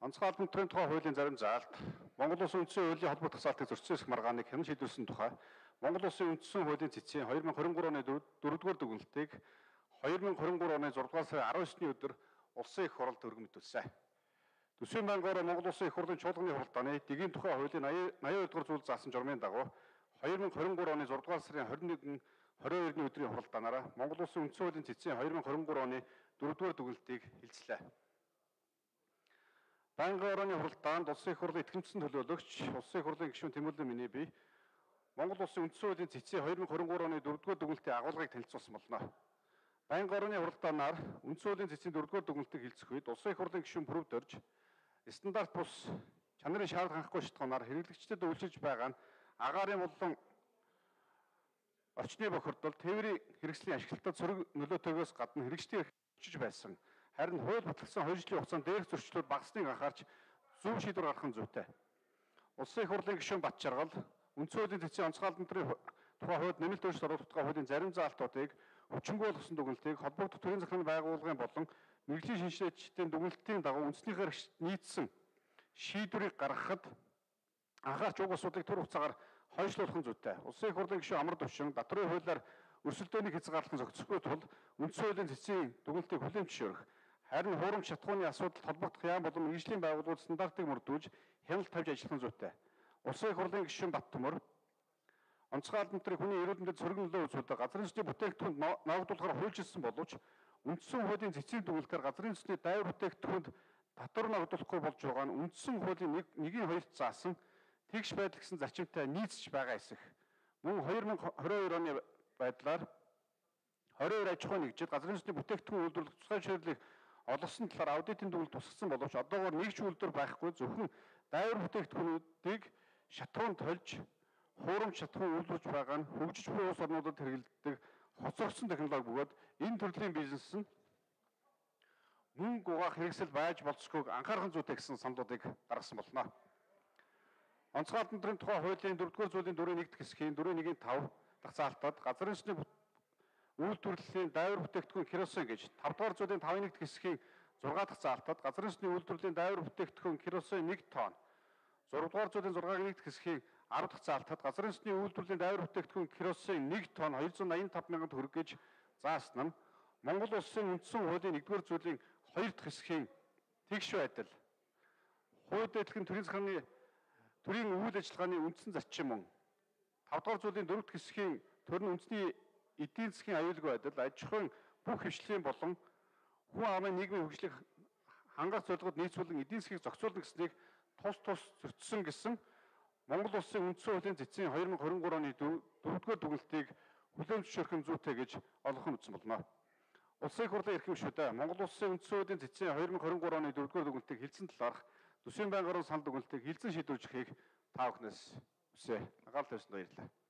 Онцгой албан тухай хуулийн зарим заалт Монгол Улсын үндсэн хуулийн холбогдох залтыг зөрчсөн маргааныг хянан шийдвэрлсэн тухай Монгол Улсын үндсэн хуулийн цэцгийн 2023 оны 4-р дүгнэлтийг 2023 оны 6-р сарын 19-ний өдөр Улсын их хурлд өргөн мэдүүлсэн. Төсвийн байнгаараа Монгол Улсын их хурлын чуулганы хуралдааны дэгийн тухай хуулийн 82-р зүйл заасан журмын дагуу 2023 оны 6-р сарын 22-ний өдрийн хуралдаанаараа Монгол Улсын үндсэн хуулийн цэцгийн 2023 оны 4-р дүгнэлтийг хэлцлээ. Байнгын орооны хуралдаанд Улсын их хурлын итгэмжсэн төлөөлөгч Улсын их хурлын гишүүн Тэмүүлэн миний бие Монгол Улсын үндсэн хуулийн цэцгийн 2023 оны 4-р дүгнэлтийн агуулгыг танилцуулсан болно. Байнгын орооны хуралдаанаар үндсэн хуулийн цэцгийн 4-р дүгнэлтийг хэлцэх үед Улсын их хурлын гишүүн Пүрэвд орж стандарт бус чанарын шаардлага хангахгүй шалтгаанаар хэрэглэгчдэд үйлчилж байгаа нь агаарын болон орчны бохирдол тээврийн хэрэгслийн ашиглалтад сөрөг нөлөөтэйгээс гадна хэрэгждэг очиж байсан. Харин хууль батлагдсан 2 жилийн хугацаанд дээрх зөрчлүүд багасныг анхаарч зөв шийдвэр гаргах нь зүйтэй. Улсын их хурлын гишүүн Бат Жаргал үндсэн хуулийн цэцгийн онцгой албан тухай хууль нэмэлт өөрчлөлт оруулах хуулийн зарим заалтуудыг хүчингүй болгосон дүгнэлтийг холбогдох төрийн захиргааны байгууллагын болон мэргэжлийн шинжилгээчдийн дүгнэлтийн дагуу үндснийхээр нийцсэн шийдвэрийг гаргахад анхаарч уг асуудлыг түр хугацаагаар хойшлуулах нь зүйтэй. Улсын их хурлын гишүүн Амар Төвшин Батрын хуулиар өрсөлдөөнийг хязгаарлах зохицохгүй тул үндсэн хуулийн цэцгийн дүгнэлтийг хүлээн зөвшөөрөх. Харин хуурамч шатхууны асуудалд холбогдох яам болон мэргэжлийн байгууллагууд стандартыг мөрдүүлж хяналт тавьж ажиллах нь зүйтэй. Улсын их хурлын гишүүн Бат Төмөр онцгой албан тушаалын хүний эрүүл мэндэд сөрөг нөлөө үзүүлдэг газрын сүнсний бүтээгдэхүүнд ногдуулахаар хуульчилсан боловч үндсэн хуулийн цэцгийн дүгнэлтээр газрын сүнсний дайвар бүтээгдэхүүнд татвар ногдуулахгүй болж байгаа нь үндсэн хуулийн 1-2-т заасан тэгш байдал гэсэн зарчимтай нийцж байгаа эсэх. Мөн 2022 оны байдлаар 22 аж ахуйн нэгжид газрын сүнсний бүтээгдэхүүн үйлдвэрлэх тусгай шийдлийг олгосон талаар аудитын дүгнэлт тусгасан боловч одоогоор нэг ч үйлдвэр байхгүй зөвхөн дайвар бүтээгдэхүүнүүдийг шатхуунд тольж хуурамч шатхуун үйлдвэрлэж байгаа нь хөгжиж буй улс орнуудад хэрэглэдэг хоцрогдсон технологи бөгөөд энэ төрлийн бизнес нь мөнгө угаах хэрэгсэл байж болцохгүйг анхаарах зүйтэй гэсэн саналуудыг гаргасан болно. Онцгой албан тушаалын тухай хуулийн 4-р зүйлийн 4-1 хэсгийн 4-1-5 дахь заалтад газрын сүнсний үйлдвэрлэлийн дайвар бүтээгдэхүүн керосин гэж 5-р зүйлийн 5-1 хэсгийн 6 дахь заалтад газрын сүнсний үйлдвэрлэлийн дайвар бүтээгдэхүүн керосин 1 тонн 6-р зүйлийн 6-1 хэсгийн 10 дахь заалтад газрын сүнсний үйлдвэрлэлийн дайвар бүтээгдэхүүн керосин 1 тонн 285 мянган төгрөг гэж заасан нь Монгол Улсын үндсэн хуулийн 1-р зүйлийн 2 дахь хэсгийн тэгш байдал хууль дэвтлэгийн төрийн захиргааны төрийн үйл ажиллагааны үндсэн зарчим мөн 5-р зүйлийн 4 дахь хэсгийн төрийн үндэсний эдийн засгийн аюулгүй байдал аж ахуйн бүх хвшлийн болон хүн амын нийгмийн хөгжлийг хангах зорилгод нийцүүлэн эдийн засгийг зохицуулна гэснийг тус зөрчсөн гэсэн Монгол Улсын үндсэн хуулийн цэцгийн 2023 оны 4-р дүгнэлтийг хүлээн зөвшөөрөх нь зүйтэй гэж олгох нь үзсэн болно. Улсын их хурлын эрхэм гишүүдээ Монгол Улсын үндсэн хуулийн цэцгийн 2023 оны 4-р дүгнэлтийг хэлсэн талаарх төсвийн байнгын орон санал дүгнэлтийг хэлсэн шийдвэрлэхийг та бүхнээс хүсье. Анхаарал тавьсанд баярлалаа.